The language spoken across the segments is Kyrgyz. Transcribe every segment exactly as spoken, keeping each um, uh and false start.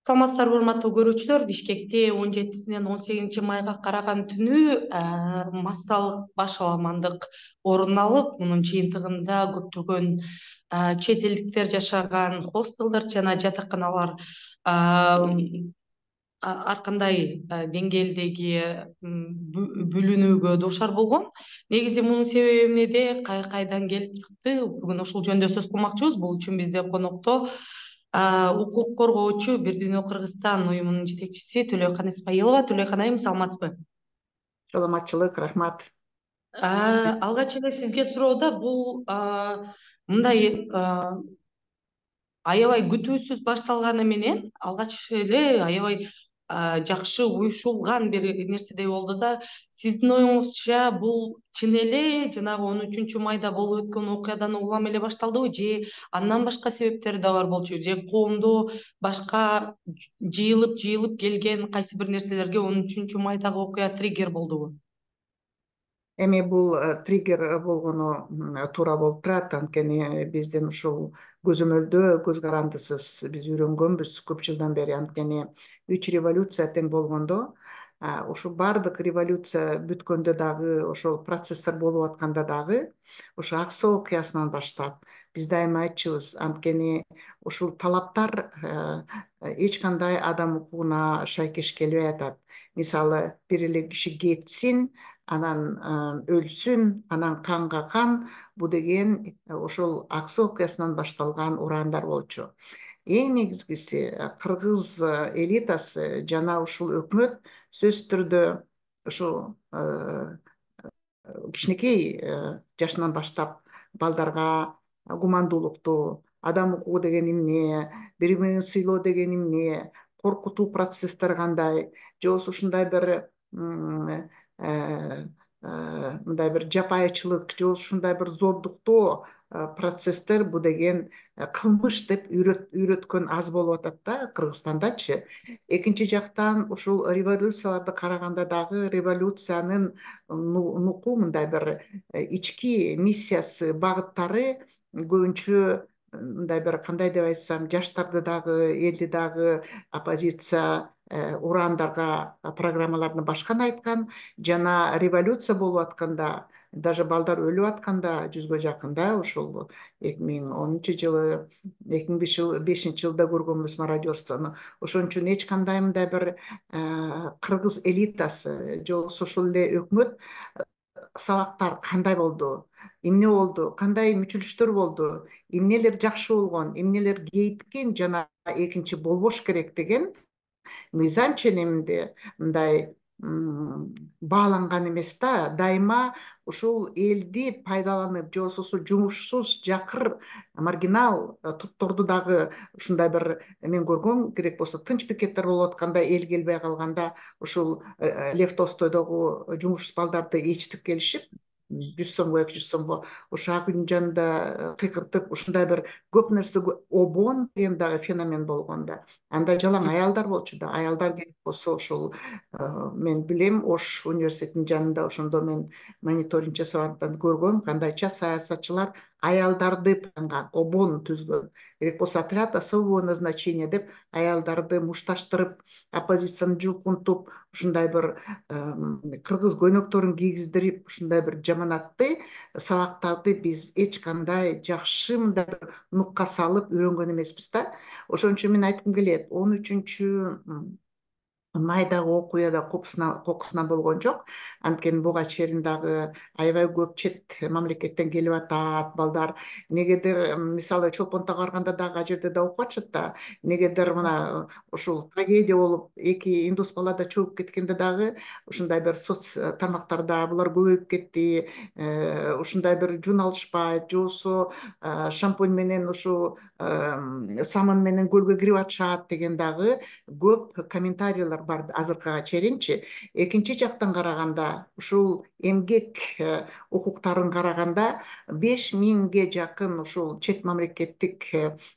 Саламатсыздарбы, урматтуу көрүүчүлөр. Бишкекте он жетисинен он сегизинчи майга караган түнү массалык баш аламандык орун алып, мунун жыйынтыгында көптөгөн чет элдиктер жашаган хостелдер жана жатаканалар ар кандай деңгээлдеги бүлүнүүгө дуушар болгон. Негизи мунун себеби эмнеде, кайдан келип чыкты? Бүгүн ушул жөнүндө сөз кылмакчыбыз. Бул үчүн бизде конокто укук коргоочу Бир Дүйнө Кыргызстан уюмунун жетекчиси Төлөйкан Исмаилова. Төлөйкан айым, саламатсызбы? Саламатчылык, рахмат. Алгач эле сизге суроода, бул мындай аябай күтүүсүз башталганы менен алгач эле аябай жакшы уюшулган бир нерседей болду да, сиздин оюңузча бул чын эле жанагы он үчүнчү майда болуп өткөн окуядан улам эле башталдыбы, же андан башка себептери да бар болчу, же коомдо башка жыйылып жыйылып келген кайсы бир нерселерге он үчүнчү майдагы окуя триггер болдубу? Эми бул триггер болгону туура болуп турат, анткени биздин ушул көзөмөлдөө көз карандысыз биз үйрөнгөнбүз көп жылдан бери. Анткени үч революция тең болгондо, ушул баардык революция бүткөндө дагы, ошол процесстер болуп атканда дагы, ошо ак суу окуясынан баштап биз дайыма айтчубуз, анткени ушул талаптар эч кандай адам укугуна шайкеш келбей атат. Мисалы, бир эле киши кетсин, анан өлсүн, анан канга кан, бу деген ошол ак суу окуясынан башталган ураандар болчу. Эң негизгиси, кыргыз элитасы жана ушул өкмөт сөзсүз түрдө ушу кичинекей жашынан баштап балдарга гумандуулукту, адам укугу деген эмне, бири бирин сыйлоо деген эмне, коркутуу процесстери кандай, же болбосо ушундай бир мындай бир жапайычылык, же ушундай бир зордуктоо процесстер, бу деген кылмыш деп үйрөткөн аз болуп атат да Кыргызстандачы. Экинчи жактан, ушул революцияларды караганда дагы революциянын нуку мындай бир ички миссиясы, багыттары көбүнчө мындай бир, кандай деп айтсам, жаштарды дагы, элди дагы оппозиция ураандарга программаларын башкан айткан, жана революция болуп атканда, даже балдар өлүп атканда, жүзгө жакын да, ушул эки миң онунчу жылы, эки миң бешинчи жылда көргөнбүз мародерствону. Ошон үчүн эч кандай мындай бир кыргыз элитасы, же болбосо ошол эле өкмөт сабактар кандай болду, эмне болду, кандай мүчүлүштөр болду, эмнелер жакшы болгон, эмнелер кейиткен жана экинчи болбош керек деген мыйзам ченеминде мындай бааланган эмес да. Дайыма ушул элди пайдаланып, же болбосо жумушсуз, жакыр, маргинал топторду дагы ушундай бир, мен көргөм, керек болсо тынч пикеттер болуп атканда, эл келбей калганда, ушул Лев Толстойдогу жумушсуз балдарды ээрчитип келишип, жүз сомго, эки жүз сомго ошо ак үйдүн жанында кыйкыртып, ушундай бир көп нерсе, обон деген дагы феномен болгон да. Анда жалаң аялдар болчу да. Аялдар керек болсо ошол, мен билем, Ош университетинин жанында ошондо мен мониторинг жасагандан көргөм, кандайча саясатчылар аялдарды панган, обон түзгөн. Керек болсо отряд особого назначения деп аялдарды мушташтырып, оппозицияны жулкунтуп, ушундай бир кыргыз көйнөктөрүн кийгиздирип, ушундай бир жаманатты сабактарды биз эч кандай жакшы мындай бир нукка салып үйрөнгөн эмеспиз да. Ошон үчүн мен айткым келет, он үчүнчү майдагы окуяда кокусуна болгон жок. Анткени буга чейин дагы аябай көп чет мамлекеттен келип атат балдар. Негедир, мисалы, Чолпон Тагга барганда дагы ал жерде да окуп атышат да. Негедир мына ушул трагедия болуп, эки индус бала да чөгүп кеткенде дагы ушундай бир соц тармактарда булар көбөйүп кетти, ушундай бир жун алышпайт, же болбосо шампунь менен ушу самын менен көлгө кирип атышат деген дагы көп комментарийлер бар азыркыга чейинчи. Экинчи жактан караганда, ушул эмгек укуктарын караганда, беш миңге жакын ушул чет мамлекеттик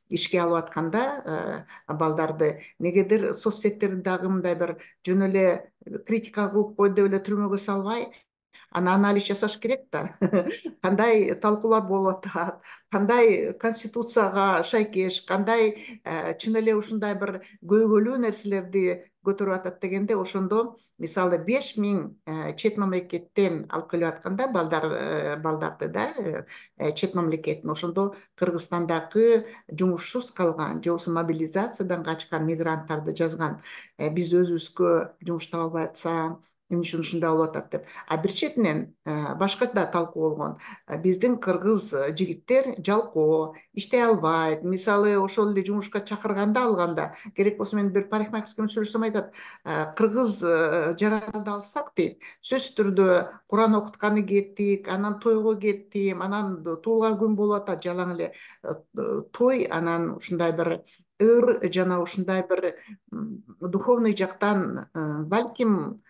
ишке алып атканда балдарды, негедир соцсеттерди дагы мындай бир жөн эле критика кылып койду деп эле түрмөгө салбай, аны анализ жасаш керек да. Кандай талкуулар болуп атат, кандай конституцияга шайкеш, кандай чын эле ушундай бир көйгөйлүү нерселерди көтөрүп атат дегенде, ошондо мисалы беш миң чет мамлекеттен алып келип атканда балдар балдарды да чет мамлекеттин, ошондо Кыргызстандагы жумушсуз калган же болбосо мобилизациядан качкан мигранттарды жазган. Биз өзүбүзгө жумуш таба албай атсак, эмне үчүн ушундай болуп атат деп. А бир четинен башка да талкуу болгон. Биздин кыргыз жигиттер жалкоо, иштей албайт. Мисалы ошол эле жумушка чакырганда алганда, керек болсо мен бир парикмахерский менен сүйлөшсөм айтат, кыргыз жаранды алсак дейт, сөзсүз түрдө Куран окутканы кеттик, анан тойго кеттим, анан туулган күн болуп атат, жалаң эле той, анан ушундай бир ыр жана ушундай бир духовный жактан балким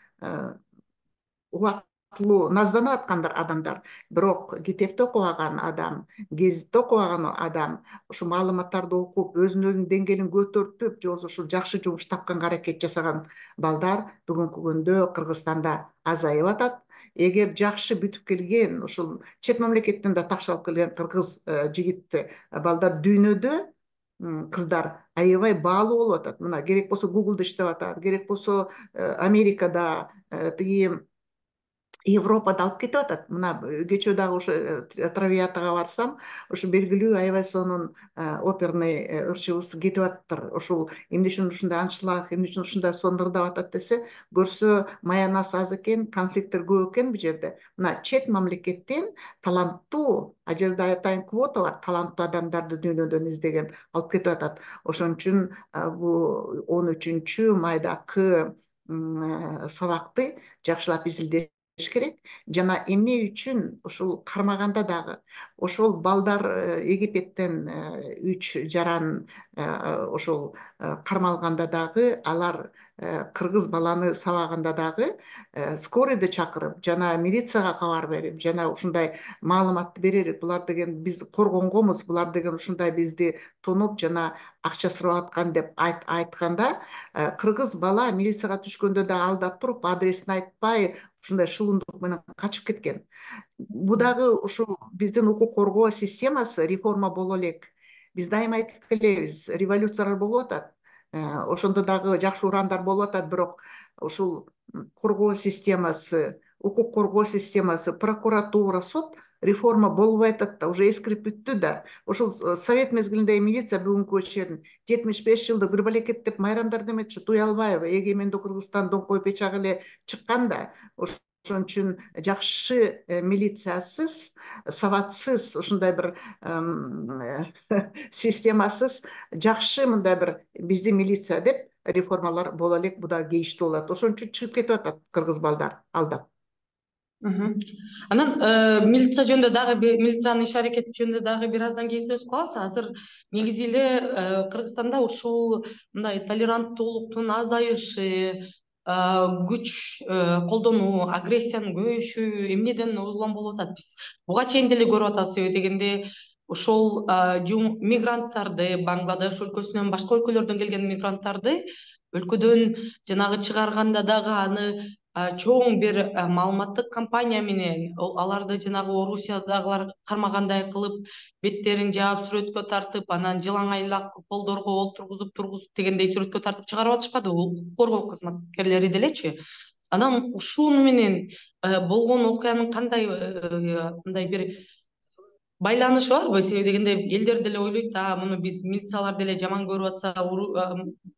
убактылуу назданып аткан бир адамдар. Бирок китепти окубаган адам, гезитти окубаган адам, ушу маалыматтарды окуп, өзүнүн өзүнүн деңгээлин көтөртүп, же болбосо ушул жакшы жумуш тапканга аракет жасаган балдар бүгүнкү күндө Кыргызстанда азайып атат. Эгер жакшы бүтүп келген, ушул чет мамлекеттен да такшы алып келген кыргыз жигит балдар дүйнөдө кыздар аябай баалуу болуп атат. Мына керек болсо Гуглда иштеп атат, керек болсо Америкада, тиги Европада алып кетип атат. Мына кечөө дагы ошо Травиатага барсам, ушу белгилүү аябай сонун оперный ырчыбыз кетип аттыр. Ошол эмне үчүн ушундай аншлаг, эмне үчүн ушундай сонун ырдап атат десе, көрсө маянасы аз экен, конфликттер көп экен бул жерде. Мына чет мамлекеттен таланттуу, а жерде айтайын квота бар, таланттуу адамдарды дүйнөдөн издеген алып кетип атат. Ошон үчүн бул он үчүнчү майдагы сабакты жакшылап изилдеш керек. Жана эмне үчүн ушул кармаганда дагы ошол балдар Египеттен үч жаран ошол кармалганда дагы, алар кыргыз баланы сабаганда дагы скорыйды чакырып, жана милицияга кабар берип, жана ушундай маалыматты берели. Булар деген биз коргонгомуз, булар деген ушундай бизди тонуп жана акча сурап аткан деп айтканда, кыргыз бала милицияга түшкөндө да алдап туруп, адресин айтпай, ушундай шылымдык менен качып кеткен. Бул дагы ушул биздин укук коргоо системасы реформа боло элек. Биз дайыма айтып келебиз, революциялар болуп атат. Ошондо дагы жакшы урандар болуп атат, бирок ушул коргоо системасы, укук коргоо системасы, прокуратура, суд реформа болбой атат да, уже эскирип бүттү да. Ошол совет мезгилиндеги милиция бүгүнкү чейин жетимиш беш жылдык бир балекет деп майрамдар деметчи, Туялбаева, эгемендүү Кыргызстан доңкой печак эле чыккан да. Ошон үчүн жакшы милициясыз, сабатсыз, ушундай бир системасыз жакшы мындай бир биздин милиция деп реформалар боло элек, бул да кейиштүү болот. Ошон үчүн чыгып кетип атат кыргыз балдар алдап. Анан милиция жөнүндө дагы милициянын иш аракети жөнүндө дагы бир аздан кийин сөз кылабыз. Азыр негизи эле Кыргызстанда ушул мындай толеранттуулуктун азайышы, күч колдонуу, агрессиянын көбөйүшү эмнеден улам болуп атат? Биз буга чейин деле көрүп атабыз дегенде, ошол мигранттарды, Бангладеш өлкөсүнөн, башка өлкөлөрдөн келген мигранттарды өлкөдөн жанагы чыгарганда дагы аны чоң бир маалыматтык компания менен аларды жанагы Орусиядагылар кармагандай кылып, беттерин жаап, сүрөткө тартып, анан жылаңайлак полдорго олтургузуп тургузуп дегендей сүрөткө тартып чыгарып атышпадыбы укук коргоо кызматкерлери делечи? Анан ушуну менен болгон окуянын кандай мындай бир байланышы барбы? Себеби дегенде элдер деле ойлойт, а муну биз милициялар деле жаман көрүп атса,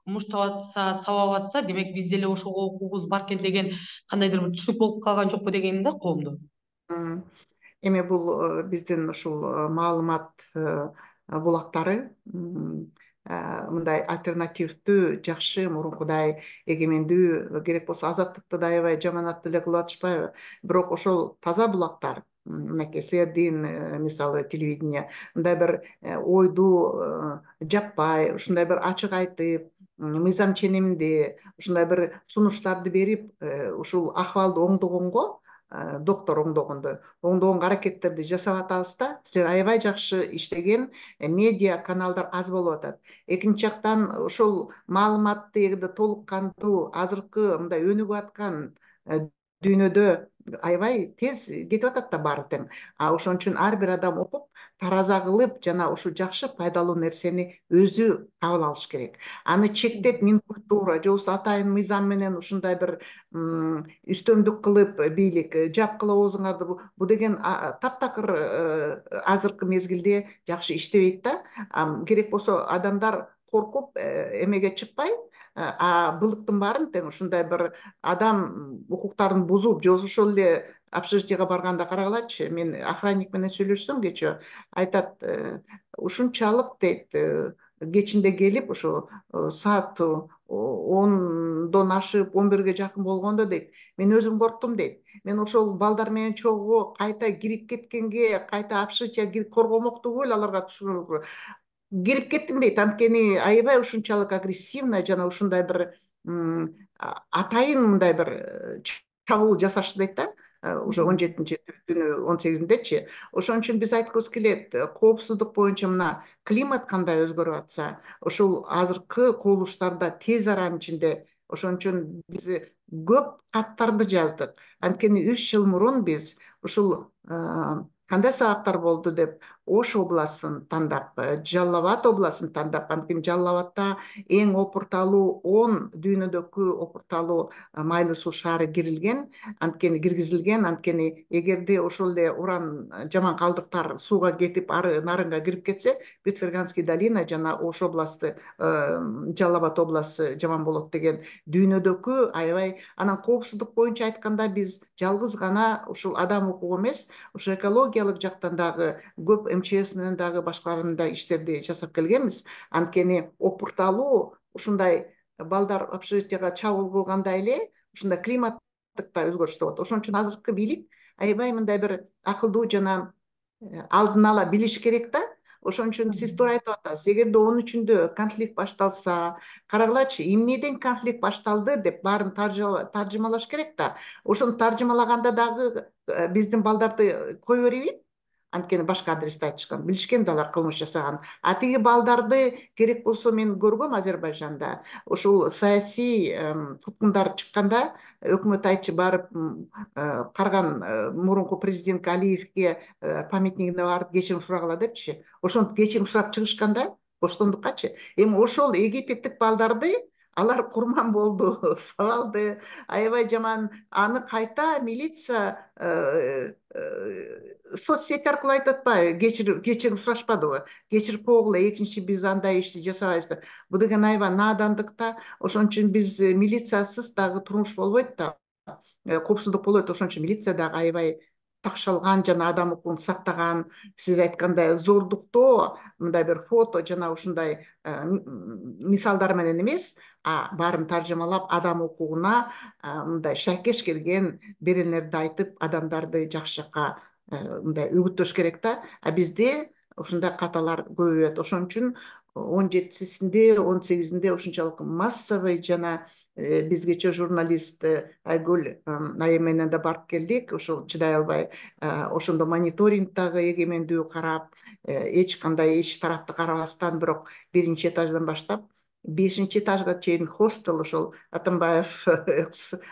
муштап атса, сабап атса, демек биз деле ошого укугубуз бар экен деген кандайдыр бир түшүнүк болуп калган жокпу дегеним да коомдо. Эми бул биздин ушул маалымат булактары мындай альтернативдүү, жакшы, мурункудай эгемендүү, керек болсо азаттыкты да аябай жаманат деле кылып атышпайбы? Бирок ошол таза булактар, мынакей силердин мисалы телевидение мындай бир ойду жаппай, ушундай бир ачык айтып, мыйзам ченемди, ушундай бир сунуштарды берип, ушул акыбалды оңдогонго, доктор оңдогондой, оңдогонго аракеттерди жасап атабыз да. Силер аябай жакшы иштеген медиа каналдар аз болуп атат. Экинчи жактан ошол маалыматты эгерде толук кандуу азыркы мындай өнүгүп аткан дүйнөдө аябай тез кетип атат да баары тең. А ошон үчүн ар бир адам окуп, тараза кылып, жана ушу жакшы пайдалуу нерсени өзү кабыл алыш керек. Аны чектеп мин культура же болбосо атайын мыйзам менен ушундай бир үстөмдүк кылып бийлик жапкыла оозуңарды, бул деген таптакыр азыркы мезгилде жакшы иштебейт да. Керек болсо адамдар коркуп эмеге чыкпай, а былыктын баарын тең ушундай бир адам укуктарын бузуп, же болбосо ошол эле общежитиеге барганда карагылачы, мен охранник менен сүйлөшсөм кечээ, айтат, ушунчалык дейт, кечинде келип ошо саат ондон ашып он бирге жакын болгондо дейт, мен өзүм корктум дейт. Мен ошол балдар менен чогуу кайта кирип кеткенге, кайта общежитиеге кирип коргомокту эле аларга түшүрүп кирип кеттим дейт. Анткени аябай ушунчалык агрессивно жана ушундай бир атайын мындай бир чабуул жасашты дейт да, уже он жетинчи түнү он сегизиндечи. Ошон үчүн биз айткыбыз келет, коопсуздук боюнча мына климат кандай өзгөрүп атса, ошол азыркы кубулуштарда тез аранын ичинде, ошон үчүн биз көп каттарды жаздык. Анткени үч жыл мурун биз ушул кандай сабактар болду деп Ош областын тандап, Жалал Абад областын тандап, анткени Жалал Абадда эң опурталуу он дүйнөдөгү опурталуу майлуу суу шаары кирилген, анткени киргизилген. Анткени эгерде ошол эле уран жаман калдыктар сууга кетип, ары нарынга кирип кетсе, Бетферганский долина жана Ош областы, Жалал Абад областы жаман болот деген дүйнөдөгү аябай. Анан коопсуздук боюнча айтканда биз жалгыз гана ушул адам укугу эмес, ошо экологиялык жактан дагы көп эм че эс менен дагы башкаларын да иштерди жасап келгенбиз. Анткени опурталуу ушундай балдар общежитиеге чабуул кылгандай эле ушундай климаттык да өзгөрүштөр болот. Ошон үчүн азыркы бийлик аябай мындай бир акылдуу жана алдын ала билиш керек да. Ошон үчүн сиз туура айтып атасыз. Эгерде он үчүндө конфликт башталса, карагылачы, эмнеден конфликт башталды деп баарын таржымалаш керек да. Ошону таржымалаганда дагы биздин балдарды кое бербейт. Анткени башка адресте айтышкан, билишкен да алар кылмыш жасаган. А тиги балдарды керек болсо мен көргөм Азербайжанда. Ошол саясий туткундар чыкканда, өкмөт айтчы барып карган мурунку президент Алиевге памятнигине барып кечирим сурагыла депчи. Ошентип кечирим сурап чыгышканда боштондуккачы. Эми ошол египеттик балдарды алар курман болду, сабалды, аябай жаман. Аны кайта милиция соцсети аркылуу айтып атпайбы, кечирим кечирим сурашпадыбы, кечирип койгула, экинчи биз андай ишти жасабайбыз деп. Бул деген аябай наадандык да. Ошон үчүн биз милициясыз дагы турмуш болбойт да, коопсуздук болбойт. Ошон үчүн милиция дагы аябай такшалган жана адам укугун сактаган. Сиз айткандай зордуктоо мындай бир фото жана ушундай мисалдар менен эмес, а баарын таржымалап адам укугуна мындай шайкеш келген беренелерди айтып, адамдарды жакшы жакка мындай үгүттөш керек да. А бизде ушундай каталар көбөйөт. Ошон үчүн он жетисинде он сегизинде ушунчалык массовый жана биз кечээ журналист Айгүл айым менен да барып келдик. Ошол чыдай албай, ошондо мониторинг дагы эгемендүү карап, эч кандай эч тарапты карабастан, бирок биринчи этаждан баштап бешинчи этажга чейин хостел, ошол Атамбаев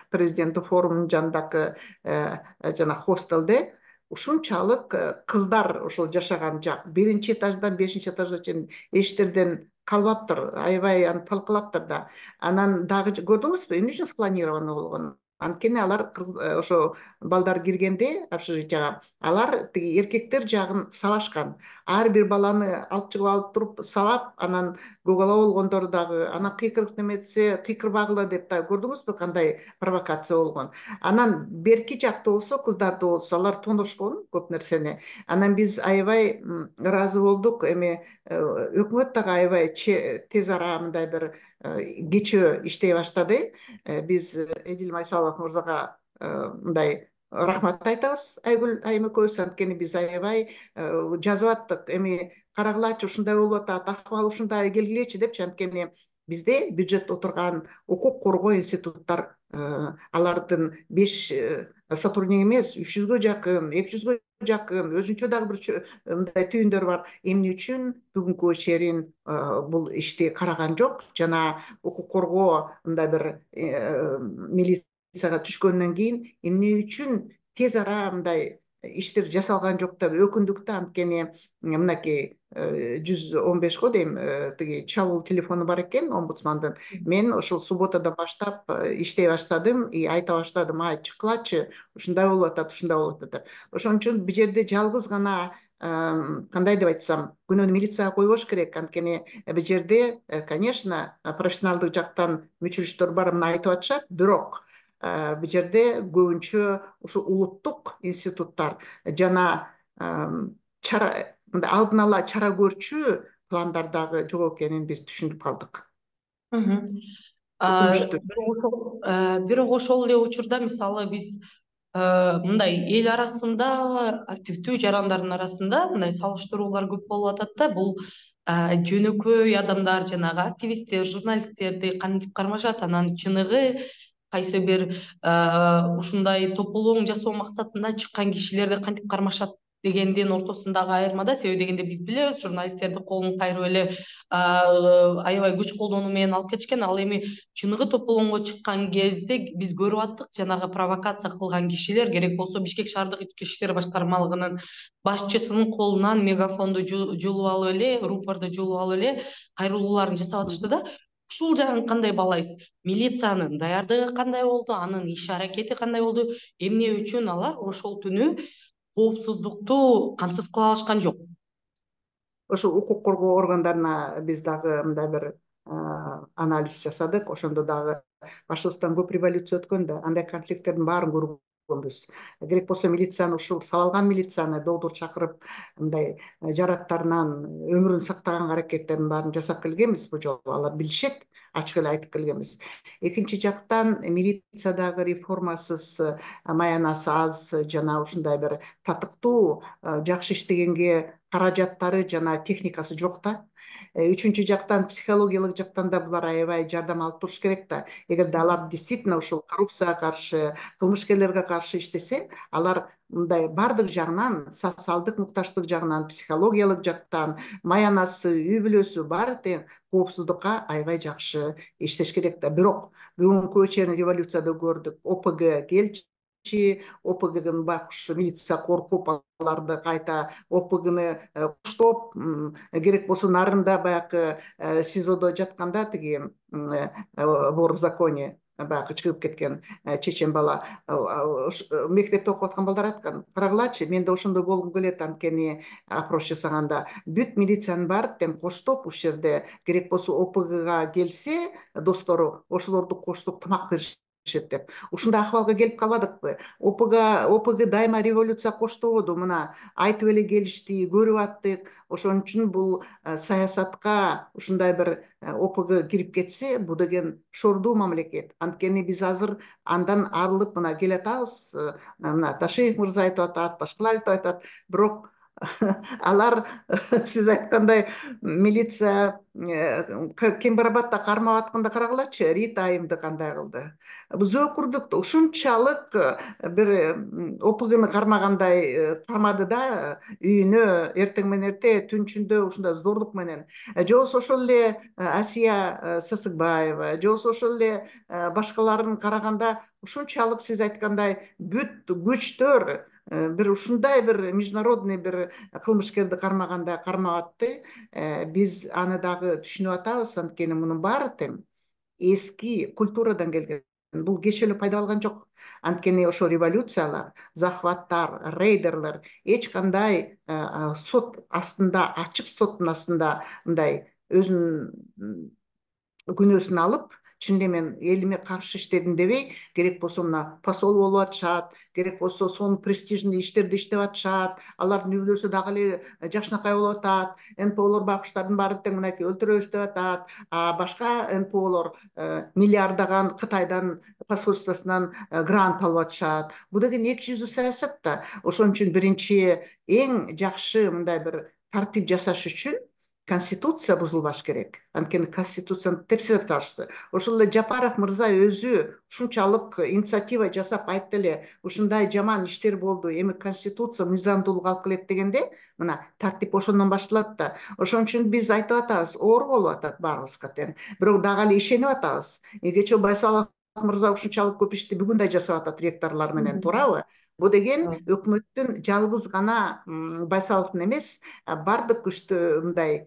президенттик форумунун жанындагы жана хостелде ушунчалык кыздар ошол жашаган жак биринчи этаждан бешинчи этажга чейин эшиктерден калбаптыр, аябай аны талкылаптыр да. Анан дагы көрдүңүзбү эмне үчүн спланировано болгонун? Анткени алар ошо балдар киргенде общежитияга, алар тиги эркектер жагын сабашкан. Ар бир баланы алып чыгып алып туруп сабап, анан көк ала болгондору дагы, анан кыйкырып неметсе кыйкырбагыла деп да көрдүңүзбү кандай провокация болгон. Анан берки жакта болсо, кыздарда болсо, алар тоношкон көп нерсени. Анан биз аябай ыраазы болдук. Эми өкмөт дагы аябай тез ара мындай бир кечөө иштей баштады. Биз Эдил Майсалов мырзага мындай рахмат айтабыз, Айгүл айым экөөбүз. Анткени биз аябай жазып аттык. Эми карагылачы, ушундай болуп атат, акыбал ушундай келгилечи депчи. Анткени бизде бюджетте отурган укук коргоо институттар, алардын беш сотрудник эмес, үч жүзгө жакын, эки жүзгө жакын, өзүнчө дагы бир мындай түйүндөр бар. Эмне үчүн бүгүнкү чейин бул ишти караган жок? Жана укук коргоо мындай бир милицияга түшкөндөн кийин эмне үчүн тез ара мындай иштер жасалган жок деп өкүндүк да. Анткени мынакей жүз он беш го дейм, тиги чабуул телефону бар экен омбудсмандын. Мен ошол субботадан баштап иштей баштадым и айта баштадым: ай чыккылачы, ушундай болуп атат, ушундай болуп атат деп. Ошон үчүн бул жерде жалгыз гана кандай деп айтсам, күнөөнү милицияга койбош керек. Анткени бул жерде, конечно, профессионалдык жактан мүчүрүштөр бар, мына айтып атышат, бирок бул жерде көбүнчө ушу улуттук институттар жана чара мындай алдын ала чара көрчү пландар дагы жок экенин биз түшүнүп калдык. Өкүнүчтүү. Бирок ошол эле учурда мисалы биз мындай эл арасында, активдүү жарандардын арасында мындай салыштыруулар көп болуп атат да. Бул жөнөкөй адамдар, жанагы активисттер, журналисттерди кантип кармашат, анан чыныгы кайсы бир ушундай тополоң жасоо максатында чыккан кишилерди кантип кармашат дегендин ортосундагы айырма да. Себеби дегенде биз билебиз, журналисттерди колун кайрып эле аябай күч колдонуу менен алып кетишкен. Ал эми чыныгы тополоңго чыккан кезде биз көрүп аттык, жанагы провокация кылган кишилер керек болсо Бишкек шаардык ички иштер башкармалыгынын башчысынын колунан мегафонду жулуп алып эле, рупорду жулуп алып эле кайрылууларын жасап атышты да. Ушул жагын кандай баалайсыз? Милициянын даярдыгы кандай болду? Анын иш аракети кандай болду? Эмне үчүн алар ошол түнү коопсуздукту камсыз кыла алышкан жок? Ошо укук коргоо органдарына биз дагы мындай бир анализ жасадык. Ошондо дагы башыбыздан көп революция өткөн да, андай конфликттердин баарын көргөнбүз. Керек болсо милицияны, ушул сабалган милицияны доодур чакырып, мындай жараттарынан өмүрүн сактаганга аракеттердин баарын жасап келгенбиз. Бул жолу алар билишет, ачык эле айтып келгенбиз. Экинчи жактан, милициядагы реформасыз, маянасы аз жана ушундай бир татыктуу, жакшы иштегенге каражаттары жана техникасы жок да. Үчүнчү жактан, психологиялык жактан да булар аябай жардам алып туруш керек да. Эгерде алар действительно ушул коррупцияга каршы, кылмышкерлерге каршы иштесе, алар мындай бардык жагынан, социалдык мукташтык жагынан, психологиялык жактан, маянасы, үй бүлөсү баары тең коопсуздукка аябай жакшы иштеш керек да. Бирок бүгүнкү чейин революцияда көрдүк, ОПГ келчи, ОПГнын байкуш милиция коркуп, аларды кайта ОПГны куштоп, керек болсо нарында баягы СИЗОдо жатканда тиги вор в законе, баягы чыгып кеткен чечен бала, мектепте окуп аткан балдар айткан: карагылачы, мен да ошондой болгум келет, анткени опрос жасаганда бүт милициянын баары тең коштоп ушул жерде, керек болсо ОПГга келсе достору, ошолорду коштоп тамак беришет деп. Ушундай акыбалга келип калбадыкпы? ОПГ ОПГ дайыма революция коштободу, мына айтып эле келишти, көрүп аттык. Ошон үчүн бул саясатка ушундай бир ОПГ кирип кетсе, бул деген шордуу мамлекет. Анткени биз азыр андан арылып мына келатабыз. Мына Ташиев мырза айтып атат, башкалар айтып атат. Бирок алар сиз айткандай милиция Кембарабадда кармап атканда карагылачы, Рита Айымды кандай кылды. Биз өкүрдүк да, ушунчалык бир ОПГны кармагандай кармады да, үйүнө эртең менен эрте түнчүндө ушундай зордук менен. Же болбосо ошол эле Асия Сасыкбаева, же болбосо ошол эле башкаларын караганда ушунчалык сиз айткандай бүт күчтөр бир ушундай бир международный бир кылмышкерди кармагандай кармап атты. Биз аны дагы түшүнүп атабыз, анткени мунун баары тең эски культурадан келген. Бул кечээ эле пайда алган жок. Анткени ошо революциялар, захваттар, рейдерлер эч кандай сот астында, ачык соттун астында мындай өзүнүн күнөөсүн алып, чын эле мен элиме каршы иштедим дебей, керек болсо мына посол болуп атышат, керек болсо сонун престижный иштерди иштеп атышат, алардын үй бүлөсү дагы эле жакшынакай болуп атат, НПОлор байкуштардын баары тең мынакей өлтүрөбүз деп атат, а башка НПОлор миллиарддаган Кытайдан посольствосунан грант алып атышат. Бул деген эки жүздүү саясат да. Ошон үчүн биринчи эң жакшы мындай бир тартип жасаш үчүн Конституция бузулбаш керек. Анткени Конституцияны тепселеп таашты. Ошол эле Жапаров мырза өзү ушунчалык инициатива жасап айтты эле, ушундай жаман иштер болду, эми Конституция мыйзамдуулук алып келет дегенде, мына тартип ошондон башталат да. Ошон үчүн биз айтып атабыз, оор болуп атат баарыбызга тең. Бирок дагы эле ишенип атабыз. Кечээ Байсалов мырза ушунчалык көп ишти бүгүн да жасап атат ректорлор менен, туурабы? Бул деген өкмөттүн жалгыз гана Байсаловдун эмес, бардык күчтүү мындай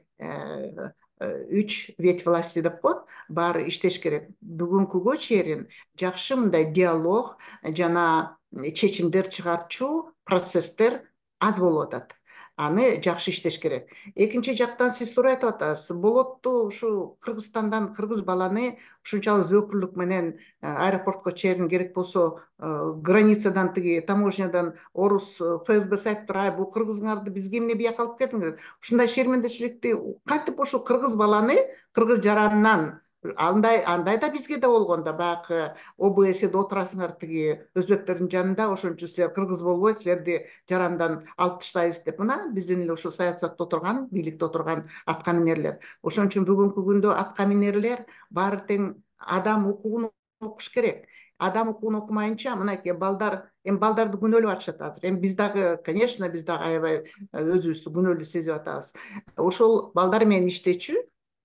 үч ветвь власти деп коет, баары иштеш керек. Бүгүнкүгө чейин жакшы мындай диалог жана чечимдер чыгарчу процесстер аз болуп атат. Аны жакшы иштеш керек. Экинчи жактан сиз туура айтып атасыз. Болотту ушу Кыргызстандан кыргыз баланы ушунчалык зөөкүрлүк менен аэропортко чейин керек болсо границадан тиги таможнядан орус ФСБ айтып туруп, ай бул кыргызыңарды бизге эмне бияка алып келдиңер? Ушундай шермендечиликти кантип ушул кыргыз баланы кыргыз жаранынан андай андай да бизге да болгондо баягы ОБСде отурасыңар тиги өзбектердин жанында, ошон үчүн силер кыргыз болбой силерди жарандан алып таштайбыз деп, мына биздин эле ушу саясатта отурган, бийликте отурган атка минерлер. Ошон үчүн бүгүнкү күндө атка минерлер баары тең адам укугун окуш керек. Адам укугун окумайынча мынакей балдар, эми балдарды күнөөлөп атышат азыр. Эми биз дагы, конечно, биз дагы аябай өзүбүздү күнөөлүү сезип атабыз. Ошол балдар менен иштечү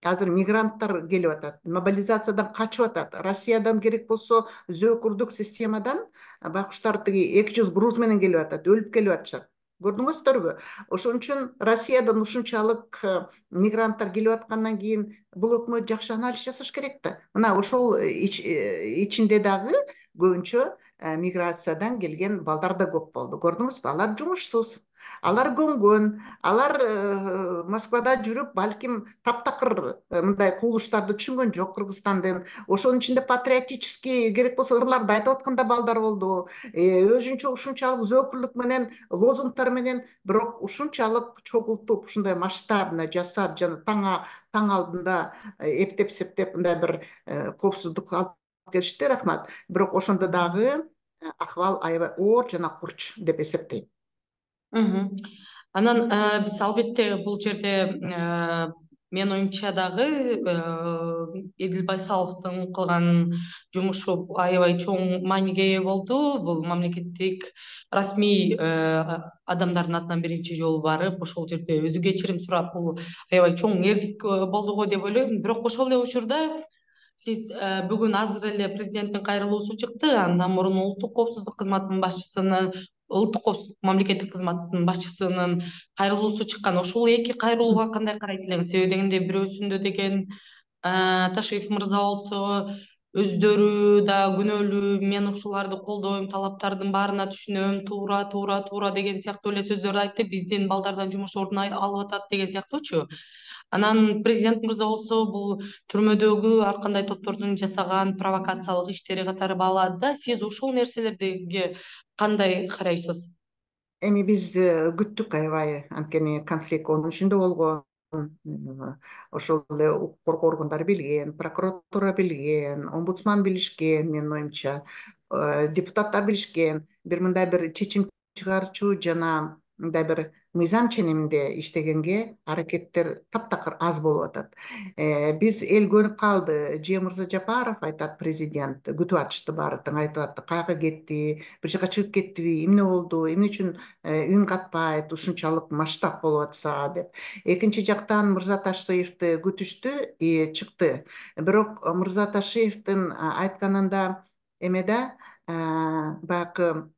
азыр мигранттар келип атат, мобилизациядан качып атат. Россиядан керек болсо зөөкүрдүк системадан байкуштар тиги эки жүз груз менен келип атат, өлүп келип атышат. Көрдүңүздөрбү? Ошон үчүн Россиядан ушунчалык мигранттар келип аткандан кийин бул өкмөт жакшы анализ жасаш керек да. Мына ошол ичинде дагы көбүнчө миграциядан келген балдар да көп болду. Көрдүңүзбү? Алар жумушсуз, алар көнгөн, алар Москвада жүрүп, балким таптакыр мындай кубулуштарды түшүнгөн жок Кыргызстандын. Ошонун ичинде патриотический керек болсо ырларды айтып аткан да балдар болду. Өзүнчө ушунчалык зөөкүрлүк менен, лозунгтар менен, бирок ушунчалык чогултуп, ушундай масштабно жасап, жана таң таң алдында эптеп септеп мындай бир коопсуздук алып келишти, рахмат. Бирок ошондо дагы акыбал аябай оор жана курч деп эсептейм. Анан биз албетте бул жерде менин оюмча дагы Эдил Байсаловдун кылган жумушу аябай чоң мааниге ээ болду. Бул мамлекеттик расмий адамдардын атынан биринчи жолу барып, ошол жерде өзү кечирим сурап, бул аябай чоң эркик болду го деп ойлойм. Бирок ошол эле учурда сиз бүгүн азыр эле президенттин кайрылуусу чыкты. Андан мурун улуттук коопсуздук кызматынын башчысынын улуттук коопсуздук мамлекеттик кызматтын башчысынын кайрылуусу чыккан. Ошол эки кайрылууга кандай карайт элеңиз? Себеби дегенде бирөөсүндө деген Ташиев мырза болсо өздөрү да күнөөлүү, мен ушуларды колдойм, талаптардын баарына түшүнөм, туура туура туура деген сыяктуу эле сөздөрдү айтты. Биздин балдардан жумуш ордун алып атат деген сыяктуучу. Анан президент мырза болсо бул түрмөдөгү ар кандай топтордун жасаган провокациялык иштери катары баалады да. Сиз ушул нерселерге кандай карайсыз? Эми биз күттүк аябай, анткени конфликт онун ичинде болгон. Ошол эле укук коргоо органдары билген, прокуратура билген, омбудсман билишкен, менин оюмча, депутаттар билишкен. Бир мындай бир чечим чыгарчу жана мындай бир мыйзам ченеминде иштегенге аракеттер таптакыр аз болуп атат. Биз эл көнүп калды. Же Мырза Жапаров айтат, президент күтүп атышты баары тең, айтып атты, каяка кетти, бир жака чыгып кеттиби, эмне болду, эмне үчүн үн катпайт, ушунчалык масштаб болуп атса деп. Экинчи жактан Мырза Ташиевди күтүштү, и чыкты. Бирок Мырза Ташиевдин айтканында эмеде баягы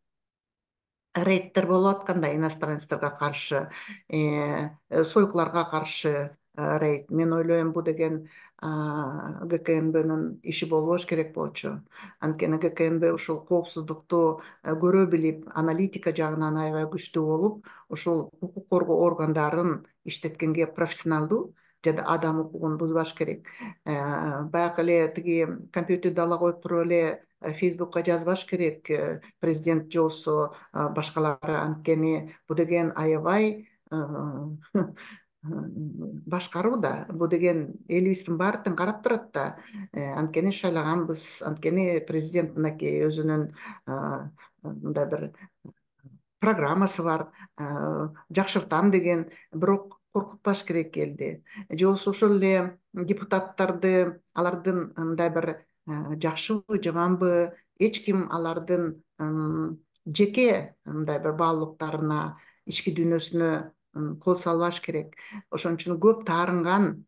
рейдтер болуп атканда, иностранецтерге каршы, сойкуларга каршы рейд. Мен ойлойм, бул деген ГКНБнын иши болбош керек болчу. Анткени ГКНБ ушул коопсуздукту көрө билип, аналитика жагынан аябай күчтүү болуп, ушул укук коргоо органдарын иштеткенге профессионалдуу жада адам укугун бузбаш керек. Баягы эле тиги компьютерди ала коюп туруп эле Фейсбукка жазбаш керек президент же болсо башкалары, анткени бул деген аябай башкаруу да. Бул деген элибиздин баары тең карап турат да. Анткени шайлаганбыз, анткени президент мынакей өзүнүн мындай бир программасы бар, жакшыртам деген, бирок коркутпаш керек элди. Же болбосо ошол эле депутаттарды, алардын мындай бир жакшыбы, жаманбы, эч ким алардын жеке мындай бир баалуулуктарына, ички дүйнөсүнө кол салбаш керек. Ошон үчүн көп таарынган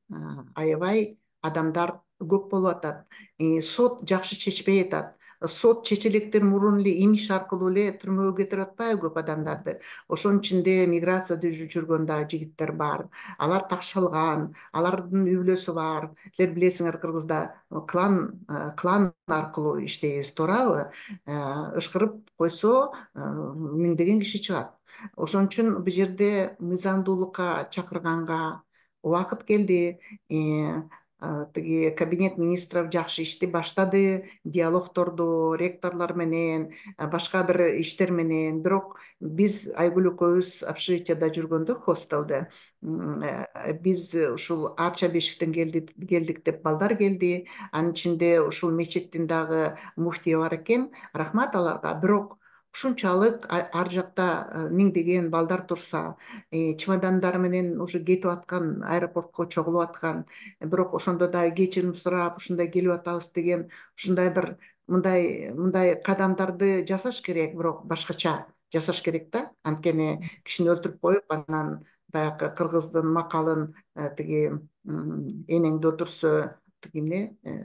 аябай адамдар көп болуп атат. Э, сот жакшы чечпей атат. Сот чече электен мурун эле имиш аркылуу эле түрмөгө кетирип атпайбы көп адамдарды. Ошонун ичинде миграцияда жүргөн дагы жигиттер бар. Алар ташалган, алардын үй бүлөсү бар. Силер билесиңер, Кыргызда клан э, клан аркылуу иштейбиз, туурабы? Э, Ышкырып койсо э, миңдеген киши чыгат. Ошон үчүн бул жерде мыйзамдуулукка чакырганга убакыт келди. Э, а, тиги кабинет министров жакшы ишти баштады, диалогторду ректорлор менен, а, башка бир иштер менен. Бирок биз Айгүл экөөбүз общежитияда жүргөндө, хостелде, м, э, биз ушул Арча бешиктен келдик келдик деп балдар келди. Анын ичинде ушул мечиттин дагы муфтийи бар экен. Рахмат аларга. Бирок ушунчалык а- ар жакта э, миңдеген балдар турса, э, чемодандары менен уже кетип аткан, аэропортко чогулуп аткан, бирок ошондо да кечирим сурап ушундай келип атабыз деген ушундай бир мындай мындай кадамдарды жасаш керек, бирок башкача жасаш керек да. Анткени кишини өлтүрүп коюп, анан баягы кыргыздын макалын э, тиги м, энеңди өлтүрсө тиги эмне э,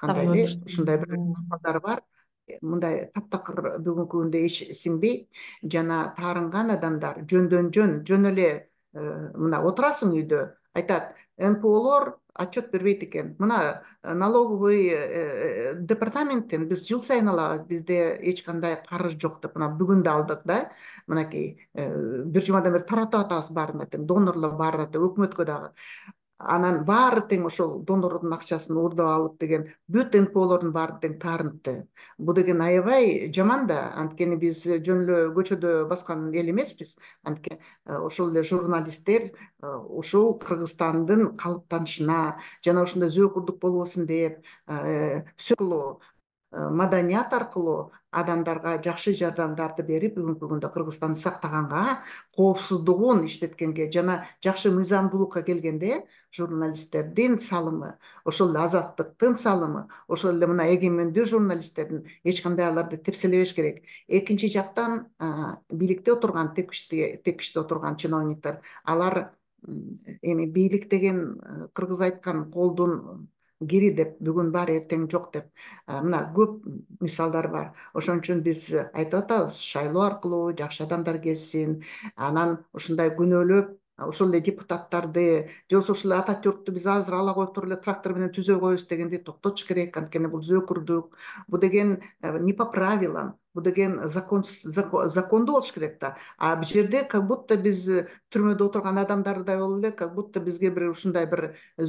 кандай Атамды эле өлтүрсүң. ушундай бир маалдар бар. Э, мындай таптакыр бүгүнкү күндө эч сиңбейт. Жана таарынган адамдар жөндөн жөн жөн эле э, мына отурасың үйдө, айтат эн пэ олор отчет бербейт экен. Мына э, налоговый э, э, департаменттен биз жыл сайын алабыз, бизде эч кандай карыз жок деп, мына бүгүн да алдык да. Мынакей э, бир жумадан бери таратып атабыз баарын тең, донорлор баары тең, өкмөткө дагы. Анан баары тең ошол донордун акчасын уурдап алып деген бүт эн пэ олордун баары тең таарынтты. Бул деген аябай жаман да. Анткени биз жөн эле көчөдө баскан эл эмеспиз. Анткени э, ошол эле журналисттер э, ушул Кыргызстандын калыптанышына жана ушундай зөөкүрдүк болбосун деп э, сөкүлүү маданият аркылуу адамдарга жакшы жардамдарды берип, бүгүнкү күндө Кыргызстанды сактаганга, коопсуздугун иштеткенге жана жакшы мыйзамдуулукка келгенде журналисттердин салымы, ошол эле азаттыктын салымы, ошол эле мына эгемендүү журналисттердин, эч кандай аларды тепселебеш керек. Экинчи жактан а, бийликте отурган, тепкичте тепкичте отурган чиновниктер, алар м, эми бийлик деген э, кыргыз айткан колдун кири деп, бүгүн бар эртең жок деп, а, мына көп мисалдар бар. Ошон үчүн биз айтып атабыз, шайлоо аркылуу жакшы адамдар келсин, анан ушундай күнөөлөп ошол эле депутаттарды, же болбосо ушул Ататюрктү биз азыр ала коюп туруп эле трактор менен түзө коебуз дегенди токтотуш керек. Анткени бул зөөкүрдүк, бул деген э, не по правилам, бул деген закон зако- закондуу болуш керек да. А бул жерде как будто биз э, түрмөдө отурган адамдардай болуп эле, как будто бизге бир ушундай бир э,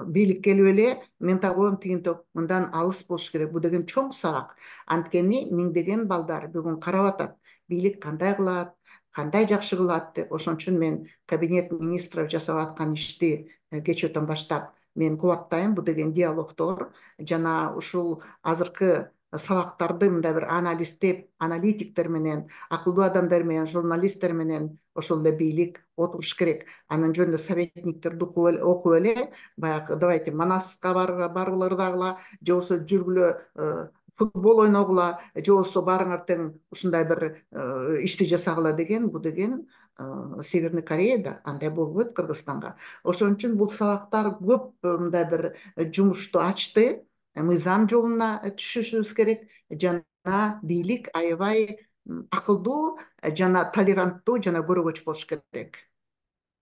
бийлик келип эле мен тагыйм тигинти мындан алыс болуш керек. Бул деген чоң сабак. Анткени миңдеген балдар бүгүн карап атат, бийлик кандай кылат, кандай жакшы кылат деп. Ошон үчүн мен кабинет министров жасап аткан ишти э, кечөөдөн баштап мен кубаттайм. Бул деген диалогтор жана ушул азыркы сабактарды мындай бир анализдеп, аналитиктер менен, акылдуу адамдар менен, журналисттер менен ошол эле бийлик отуруш керек. Анан жөн эле советниктерди окуп эле, окуп эле баягы давайте Манаска баргыла дагыла, же болбосо жүргүлө э, футбол ойногула, же болбосо баарыңар тең ушундай бир э, ишти жасагыла деген, бул деген э, Северный Кореяда андай болбойт Кыргызстанга. Ошон үчүн бул сабактар көп э, мындай бир жумушту ачты. Э, мыйзам жолуна түшүшүбүз керек жана бийлик аябай м, акылдуу э, жана толеранттуу жана көрөгөч болуш керек.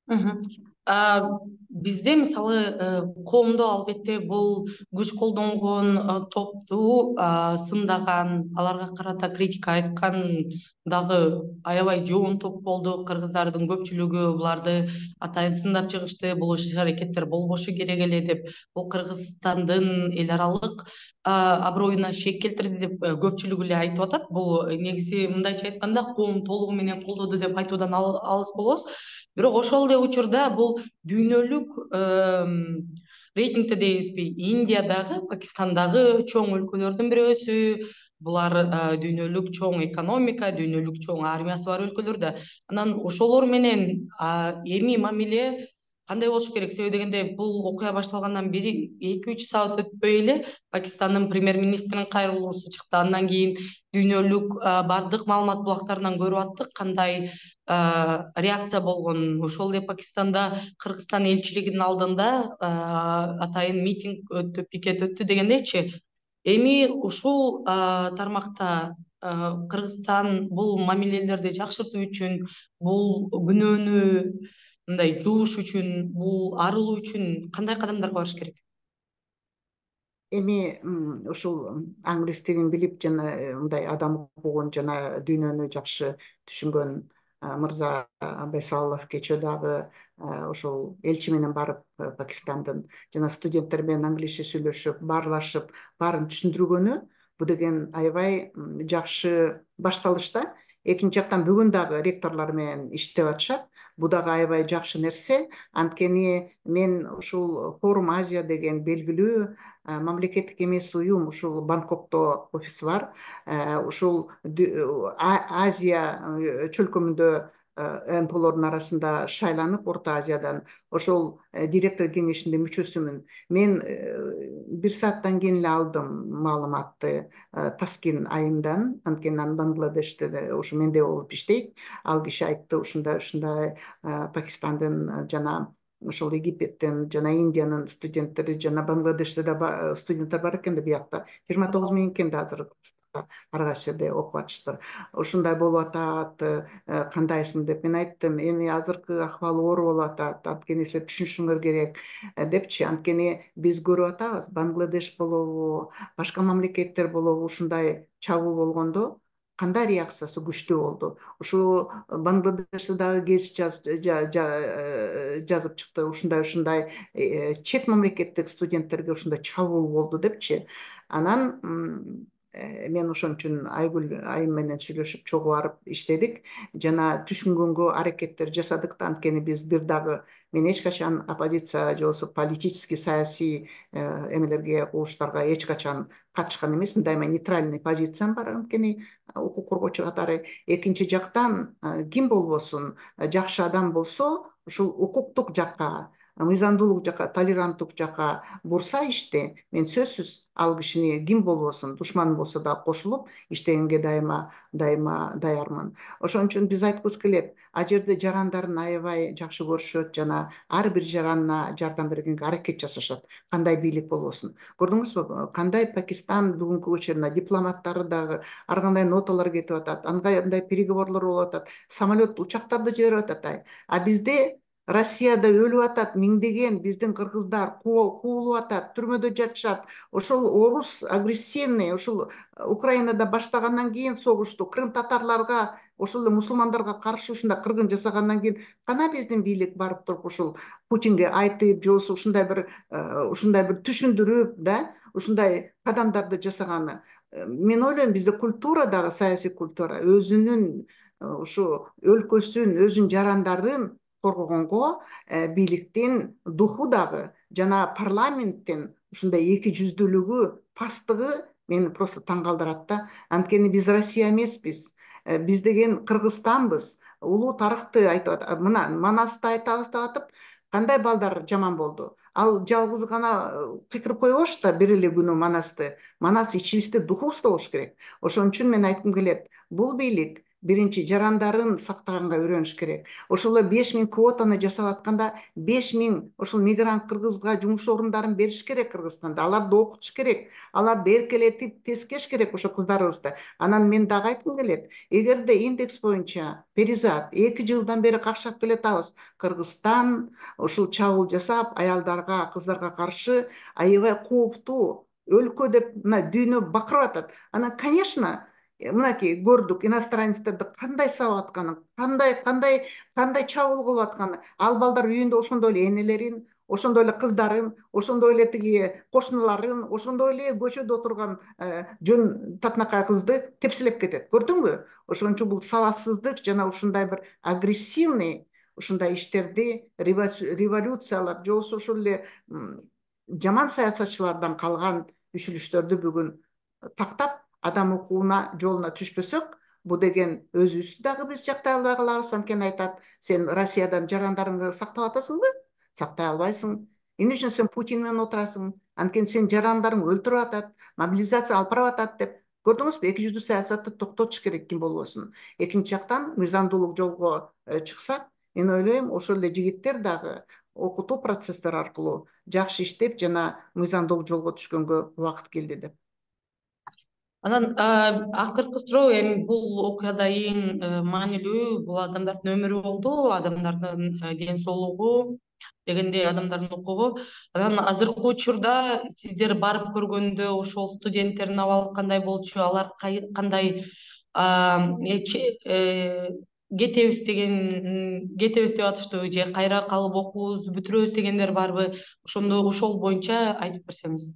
Мгм. А, бизде мисалы э, коомдо албетте бул күч колдонгон э, топту а, сындаган, аларга карата критика айткан дагы аябай жоон топ болду. Кыргыздардын көпчүлүгү буларды атайын сындап чыгышты. Бул иш аракеттер болбошу керек эле деп, бул Кыргызстандын эл аралык аброюна шек келтирди деп э, көпчүлүгү эле айтып атат. Бул э, негизи мындайча айтканда коом толугу менен колдоду деп айтуудан ал- алыс болобуз. Бирок ошол эле учурда бул дүйнөлүк эм, рейтингте дейбизби, Индия дагы Пакистандагы чоң өлкөлөрдүн бирөөсү. Булар э, дүйнөлүк чоң экономика, дүйнөлүк чоң армиясы бар өлкөлөр да. Анан ошолор менен а, эми мамиле кандай болуш керек? Себеби дегенде бул окуя башталгандан бери эки үч саат өтпөй эле Пакистандын премьер-министринин кайрылуусу чыкты. Андан кийин дүйнөлүк а, бардык маалымат булактарынан көрүп аттык кандай реакция болгон. Ошол эле Пакистанда Кыргызстан элчилигинин алдында атайын митинг өттү, пикет өттү дегендейчи. Эми ушул тармакта Кыргызстан бул мамилелерди жакшыртуу үчүн, бул күнөөнү мындай жууш үчүн, бул арылуу үчүн кандай кадамдарга барыш керек? Эми ушул англис тилин билип жана мындай адам укугун жана дүйнөнү жакшы түшүнгөн мырза Байсалов кечээ дагы ошол элчи менен барып Пакистандын жана студенттер менен англисче сүйлөшүп, баарлашып, баарын түшүндүргөнү бул деген аябай жакшы башталыш да. Экинчи жактан бүгүн дагы ректорлор менен иштеп атышат. Бул дагы аябай жакшы нерсе. Анткени мен ушул Форум Азия деген белгилүү мамлекеттик эмес уюм ушул Бангкокто офиси бар. Ушул Азия чөлкөмүндө эм пэ олордун арасында шайланып, Орто Азиядан ошол директор кеңешинин мүчөсүмүн. Мен бир сааттан кийин эле алдым маалыматты Таскин айымдан, анткени анын Бангладеште ушу менде болуп иштейт. Ал киши айтты, ушундай ушундай Пакистандын жана ошол Египеттен жана Индиянын студенттери жана Бангладеште да студенттер бар экен да, биякта жыйырма тогуз миң экен да азыр ар кайсы жерде окуп атыштыр. Ушундай болуп атат, кандайсың деп мен айттым. Эми азыркы акыбал оор болуп атат, анткени силер түшүнүшүңөр керек депчи. Анткени биз көрүп атабыз, Бангладеш болобу, башка мамлекеттер болобу ушундай чабуул болгондо кандай реакциясы күчтүү болду. Ушу Бангладеште дагы кез жазып чыкты, ушундай ушундай чет мамлекеттик студенттерге ушундай чабуул болду депчи. Анан мен ошон үчүн Айгүл айым менен сүйлөшүп чогуу барып иштедик жана түшүнгөнгө аракеттер жасадык да. Анткени биз бир дагы мен эч качан оппозиция же болбосо политический саясий эмелерге, кубулуштарга эч качан катышкан эмесмин. Дайыма нейтральный позициям бар, анткени укук коргоочу катары. Экинчи жактан ким болбосун жакшы адам болсо ушул укуктук жакка, мыйзамдуулук жакка, толеранттуулук жакка бурса ишти, мен сөзсүз ал кишини ким болбосун, душман болсо да кошулуп иштегенге дайыма дайыма даярмын. Ошон үчүн биз айткыбыз келет, ал жерде жарандарын аябай жакшы көрүшөт жана ар бир жаранына жардам бергенге аракет жасашат, кандай бийлик болбосун. Көрдүңүзбү, кандай Пакистан бүгүнкү учурда дипломаттары дагы ар кандай ноталар кетип атат, андай переговорлор болуп атат, самолет, учактарды жиберип атат. А бизде Россияда өлүп атат миңдеген биздин кыргыздар, куулуп атат, түрмөдө жатышат. Ошол орус агрессивный, ошол Украинада баштагандан кийин согушту, Крым татарларга, ошол эле мусулмандарга каршы ушундай кыргын жасагандан кийин кана биздин бийлик барып туруп ушул Путинге айтып, же болбосо ушундай бир ушундай бир түшүндүрүп, да, ушундай кадамдарды жасаганы. Мен ойлойм, бизде культура дагы, саясий культура өзүнүн ушу өлкөсүн, өзүнүн жарандарын коргогонго бийликтин духу дагы жана парламенттин ушундай эки жүздүүлүгү, пасттыгы мени просто таң калтырат да. Анткени биз Россия эмеспиз. Биз деген Кыргызстанбыз. Улуу тарыхты айтып атат. Мына Манасты айтабыз деп атып, кандай балдар жаман болду. Ал жалгыз гана кыйкырып койбош да бир эле күнү Манасты. Манас ичибизде, духубузда болуш керек. Ошон үчүн мен айткым келет, бул бийлик биринчи жарандарын сактаганга үйрөнүш керек. Ошол эле беш миң квотаны жасап атканда беш миң ошол мигрант кыргызга жумуш орундарын бериш керек Кыргызстанда. Аларды окутуш керек, аларды эркелетип тескеш керек ошо кыздарыбызды. Анан мен дагы айткым келет, эгерде индекс боюнча перизат эки жылдан бери какшап келатабыз, Кыргызстан ушул чабуул жасап, аялдарга, кыздарга каршы аябай кооптуу өлкө деп мына дүйнө бакырып атат. Анан, конечно, мынакей көрдүк иностранецтерди кандай сабап атканын, кандай кандай кандай чабуул кылып атканын. Ал балдар үйүндө ошондой эле энелерин, ошондой эле кыздарын, ошондой эле тиги кошуналарын, ошондой эле көчөдө отурган жөн татынакай кызды тепселеп кетет. Көрдүңбү? Ошон үчүн бул сабатсыздык жана ушундай бир агрессивный ушундай иштерди, революциялар же болбосо ошол эле жаман саясатчылардан калган күчүлүштөрдү бүгүн тактап, адам укугуна жолуна түшпөсөк, бул деген өзүбүздү дагы биз жактай албай калабыз. Анткени айтат, сен Россиядан жарандарыңды сактап атасыңбы? Сактай албайсың. Эмне үчүн сен Путин менен отурасың? Анткени сен жарандарың өлтүрүп атат, мобилизация алып барып атат деп Көрдүңүзбү, эки жүздүү саясатты токтотуш керек ким болбосун. Экинчи жактан мыйзамдуулук жолго чыксак, мен ойлойм ошол эле жигиттер дагы окутуу процесстери аркылуу жакшы иштеп жана мыйзамдуулук жолго түшкөнгө убакыт келди деп. Анан акыркы суроо, эми бул окуяда эң маанилүү бул адамдардын өмүрү болду, адамдардын ден соолугу дегенде адамдардын укугу. Анан азыркы учурда сиздер барып көргөндө ошол студенттердин абалы кандай болчу, алар кандай кетебиз деген кетебиз деп атыштыбы же кайра калып окуубузду бүтүрөбүз дегендер барбы? Ошондо ошол боюнча айтып берсеңиз.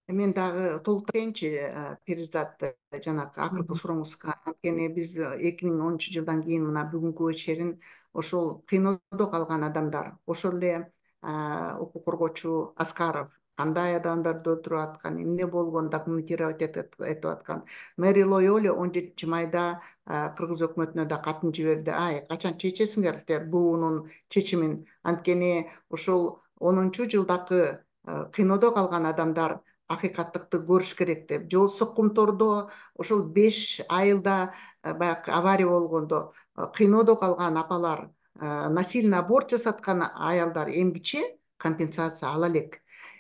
Мен дагы толуктайынчы, Перизат, жанагы акыркы сурооңузга. Анткени биз эки миң онунчу жылдан кийин мына бүгүнкүгө чейин ошол кыйноодо калган адамдар, ошол эле укук коргоочу Аскаров кандай адамдарды өлтүрүп аткан, эмне болгон документировать этип аткан. Мэри Лойоли он жетинчи майда кыргыз өкмөтүнө да катын жиберди. Ай, качан чечесиңер силер буунун чечимин? Анткени ошол онунчу жылдакы кыйноодо калган адамдар акыйкаттыкты көрүш керек деп. Жол Соккумтордо ошол беш айылда баягы авария болгондо кыйноодо калган апалар, насильно аборт жасаткан аялдар эмгиче компенсация ала элек.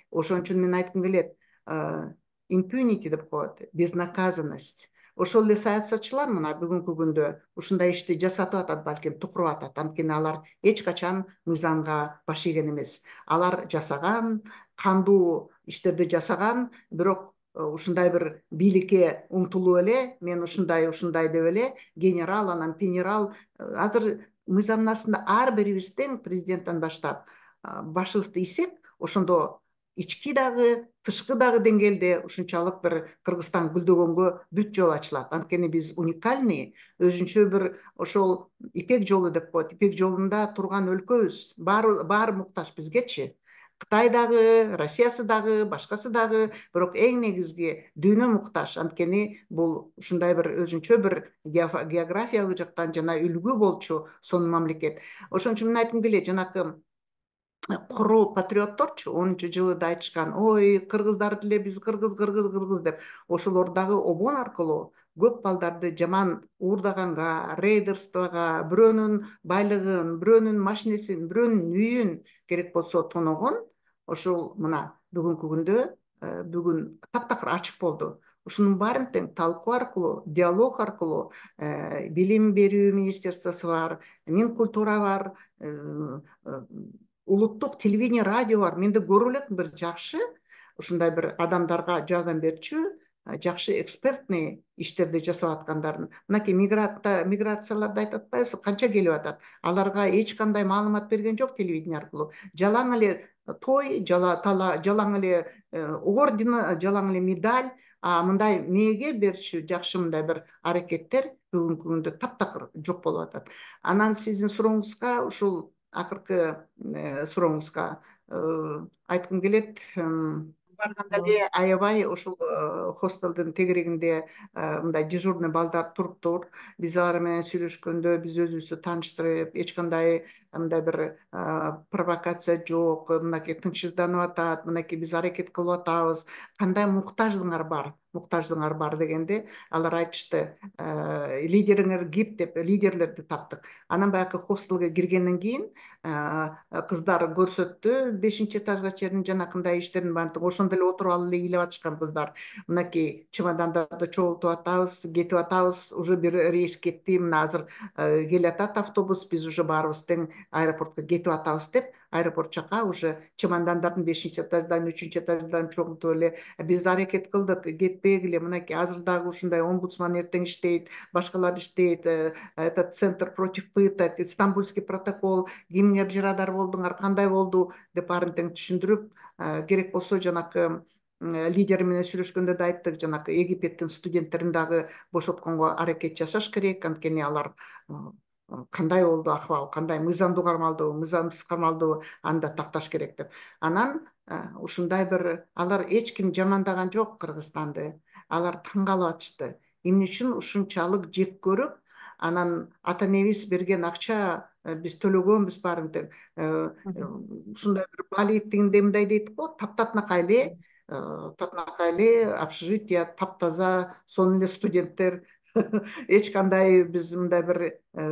Ошон үчүн мен айткым келет, impunity деп коет, безнаказанность. Ошол эле саясатчылар мына бүгүнкү күндө ушундай ишти жасатып атат, балким тукуруп атат. Анткени алар эч качан мыйзамга баш ийген эмес. Алар жасаган, кандуу иштерди жасаган, бирок ушундай бир бийликке умтулуп эле, мен ушундай ушундай деп эле генерал, анан генерал. Азыр мыйзамдын астында ар бирибизден, президенттен баштап, башыбызды ийсек, ошондо ички дагы, тышкы дагы деңгээлде ушунчалык бир Кыргызстан гүлдөгөнгө бүт жол ачылат. Анткени биз уникальный, өзүнчө бир ошол Ипек жолу деп коет. Ипек жолунда турган өлкөбүз. Баары баары муктаж бизгечи. Кытай дагы, Россиясы дагы, башкасы дагы, бирок эң негизги дүйнө муктаж. Анткени бул ушундай бир өзүнчө бир географиялык жактан жана үлгү болчу сонун мамлекет. Ошон үчүн мен айткым келет, жанакы куру патриотторчу онунчу жылы да айтышкан, ой, кыргыздар деле биз кыргыз, кыргыз, кыргыз деп. Ошолор дагы обон аркылуу көп балдарды жаман уурдаганга, рейдерствого, бирөөнүн байлыгын, бирөөнүн машинесин, бирөөнүн үйүн керек болсо тоногон. Ошол мына бүгүнкү күндө бүгүн таптакыр ачык болду. Ушунун баарын тең талкуу аркылуу, диалог аркылуу, билим берүү министерствосу бар, Минкультура бар, улуттук телевидение, радио бар. Менде көрүп элем бир жакшы ушундай бир адамдарга жардам берчү, жакшы экспертный иштерди жасап аткандарын. Мынакей миграцияларды айтып атпайбызбы, канча келип атат. Аларга эч кандай маалымат берген жок телевидение аркылуу. Жалаң эле той, жалаң эле орден, жалаң эле медаль, а мындай мээге берчү жакшы мындай бир аракеттер бүгүнкү күндө таптакыр жок болуп атат. Анан сиздин сурооңузга, ушул акыркы сурооңузга айткым келет, барганда эле аябай ошол хостелдин тегерегинде мындай дежурный балдар туруптур. Биз алар менен сүйлөшкөндө биз өзүбүздү тааныштырып, эч кандай мындай бир провокация жок, мынакей тынчсызданып атат, мынакей биз аракет кылып атабыз, кандай муктаждыгыңар бар, муктаждыгыңар бар дегенде алар айтышты, лидериңер ким деп, лидерлерди таптык. Анан баягы хостелге киргенден кийин кыздар көрсөттү, бешинчи этажга чейин жанакындай иштердин баарын. Ошондо эле отуруп алып эле ыйлап атышкан кыздар. Мынакей чемодандарды чогултуп атабыз, кетип атабыз, уже бир рейс кетти, мына азыр келатат автобус, биз уже баарыбыз тең аэропортко кетип атабыз деп, аэропорт жака уже чемодандардын бешинчи этаждан, үчүнчү этаждан чогултуп эле биз аракет кылдык, кетпегиле. Мынакей азыр дагы ушундай омбудсман эртең иштейт, башкалар иштейт, этот центр против пыток, Стамбульский протокол, кимге жырадар болдуңар, кандай болду деп баарын тең түшүндүрүп, керек болсо жанакы лидери менен сүйлөшкөндө да айттык, жанакы Египеттин студенттерин дагы бошотконго аракет жасаш керек. Анткени алар кандай болду акыбал, кандай мыйзамдуу кармалдыбы, мыйзамсыз кармалдыбы, аны да такташ керек деп. Анан ушундай бир, алар эч ким жамандаган жок Кыргызстанды. Алар таң калып атышты. Эмне үчүн ушунчалык жек көрүп, анан ата энебиз берген акча биз төлөгөнбүз баарын тең. Ушундай бир Балиевдин мындай дейт го, таптатынакай эле татынакай эле общежитие таптаза, сонун эле студенттер. Эч кандай биз мындай бир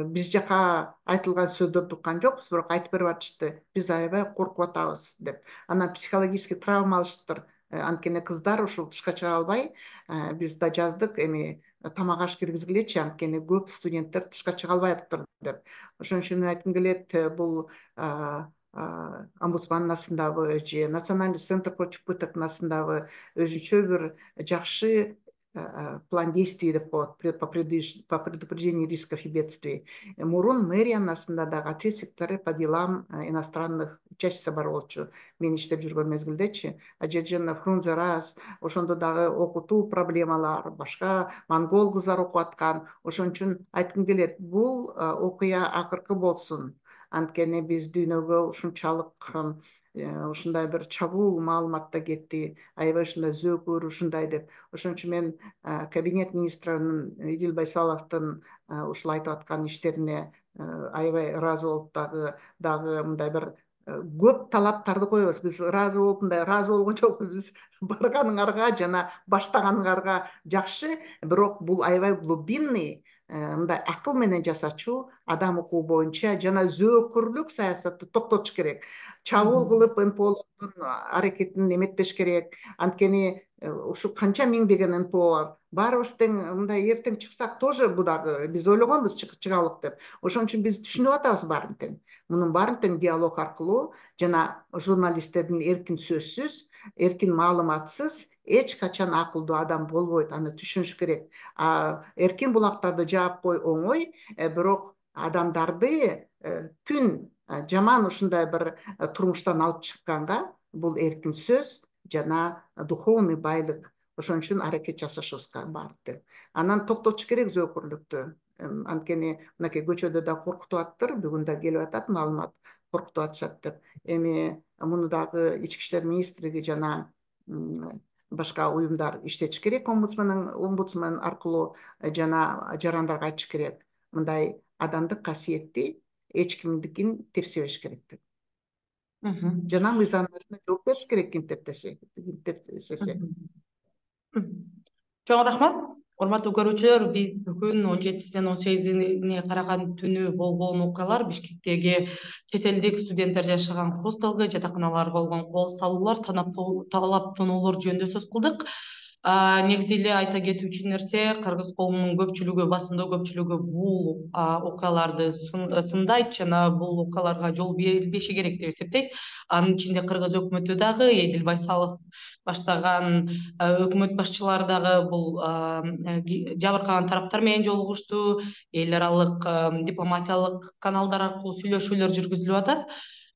биз жака айтылган сөздөрдү уккан жокпуз, бирок айтып берип атышты. Биз аябай коркуп атабыз деп. Анан психологический травма алыштыр. Анткени кыздар ушул тышка чыга албай, биз да жаздык, эми тамак аш киргизгилечи, анткени көп студенттер тышка чыга албайаптыр деп. Ошон үчүн мен айткым келет, бул омбудсмандын астындабы же Национальный центр против пытоктун астындабы өзүнчө бир жакшы план действий деп коет по предупреждению рисков и бедствий. Мурун мэриянын астында дагы ответственный секретарь по делам иностранных учащихся бар болчу. Мен иштеп жүргөн мезгилдечи, Ажежена Фрунзе раз, ошондо дагы окутуу проблемалар, башка монгол кыздар окуп аткан. Ошон үчүн айткым келет, бул окуя акыркы болсун. Анткени биз дүйнөгө ушунчалык ушундай бир чабуул маалымат да кетти, аябай ушундай зөөкөр ушундай деп. Ошон үчүн мен кабинет министринин Идил Байсаловдун ушул айтып аткан иштерине аябай ыраазы болуп, дагы дагы мындай бир көп талаптарды коебуз. Биз ыраазы болуп, мындай ыраазы болгон жокпуз. Биз барганыңарга жана баштаганыңарга жакшы, бирок бул аябай глубинный, мындай акыл менен жасачу адам укугу боюнча жана зөөкөрлүк саясатты токтотуш керек. Чабуул кылып эн пэ олордун аракетин эметпеш керек. Анткени ушу канча миңдеген эн пэ о бар. Баарыбыз тең мындай эртең чыксак тоже бу дагы биз ойлогонбуз чыгалык деп. Ошон үчүн биз түшүнүп атабыз баарын тең. Мунун баарын тең диалог аркылуу жана журналисттердин эркин сөзсүз, эркин маалыматсыз эч качан акылдуу адам болбойт. Аны түшүнүш керек. Эркин булактарды жаап кой оңой, бирок адамдарды күн жаман ушундай бир турмуштан алып чыкканга бул эркин сөз жана духовный байлык. Ошон үчүн аракет жасашыбыз бар. Анан токтотуш керек зөөкөрлүктү. Анткени мынакей көчөдө да коркутуп аттыр, бүгүн да келип атат маалымат, коркутуп атышат деп. Эми муну дагы ички иштер министрлиги жана башка уюмдар иштетиш керек, омбудсмандын омбудсмен аркылуу жана жарандарга айтыш керек. Мындай адамдык касиетти эч кимдикин тепсебеш керек деп. Жана мыйзамдашына жооп бериш керек, ким тептесе. Чоң рахмат. Урматтуу көрүүчүлөр, биз бүгүн он жетисинен он сегизине караган түнү болгон окуялар, Бишкектеги чет элдик студенттер жашаган хостелге, жатаканаларга болгон кол салуулар, талап тоноолор жөнүндө сөз кылдык. Негизи эле айта кетүүчү нерсе, кыргыз коомунун көпчүлүгү, басымдуу көпчүлүгү бул окуяларды сындайт жана бул окуяларга жол берилбеши керек деп эсептейт. Анын ичинде кыргыз өкмөтү дагы, Эдил Байсалов баштаган өкмөт башчылары дагы бул жабыркаган тараптар менен жолугушту, эл аралык дипломатиялык каналдар аркылуу сүйлөшүүлөр жүргүзүлүп атат.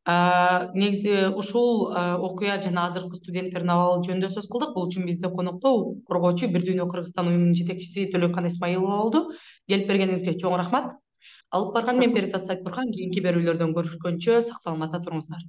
Негизи ушул окуя жана азыркы студенттердин абалы жөнүндө сөз кылдык. Бул үчүн бизде конокто коргоочу Бир дүйнө Кыргызстан уюмунун жетекчиси Төлөкан Исмаилова болду. Келип бергениңизге чоң рахмат. Алып барган мен Перизат Сайтбурхан. Кийинки берүүлөрдөн көрүшкөнчө сак саламатта туруңуздар.